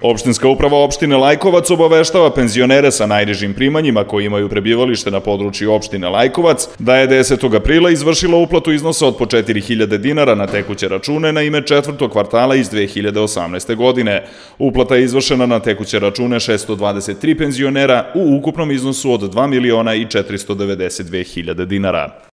Opštinska uprava opštine Lajkovac obaveštava penzionere sa najnižim primanjima koji imaju prebivalište na području opštine Lajkovac da je 10. aprila izvršila uplatu iznosa od po 4.000 dinara na tekuće račune na ime četvrtog kvartala iz 2018. godine. Uplata je izvršena na tekuće račune 623 penzionera u ukupnom iznosu od 2.492.000 dinara.